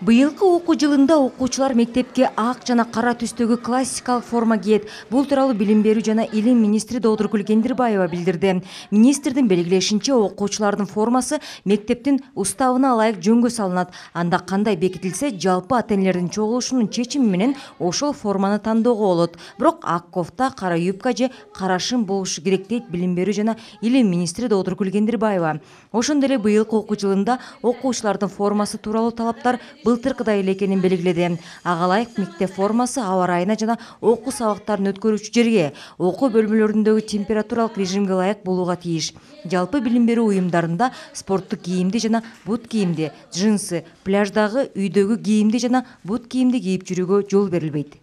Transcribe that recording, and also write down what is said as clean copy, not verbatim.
Быйылкы окуу жылында окуучулар мектепке ак жана кара түстөгү классикалык форма кийет. Бул тууралуу Билим берүү жана илим министри Доодургүл Кендирбаева билдирди. Министрдин белгилешинче, окуучулардын формасы мектептин уставына ылайык жөнгө салынат. Анда кандай бекитилсе, жалпы ата-энелердин чогулушунун чечими менен ошол форманы тандоого болот. Бирок ак кофта, кара юбка же кара шым болушу керек дейт Билим берүү жана илим министри Доодургүл Кендирбаева. Ошондой эле быйылкы окуу жылында окуучулардын формасы тууралуу талаптар былтыркыдай эле экенин белгиледи. Ага ылайык мектеп формасы аба ырайына жана окуу сабактарын өткөрүүчү жерге, окуу бөлмөлөрүндөгү температуралык режимге ылайык болууга тийиш. Жалпы билим берүү уюмдарында спорттук кийимди жана бут кийимди, джинсы, пляждагы, үйдөгү кийимди жана бут кийимди кийип жүрүүгө жол берилбейт.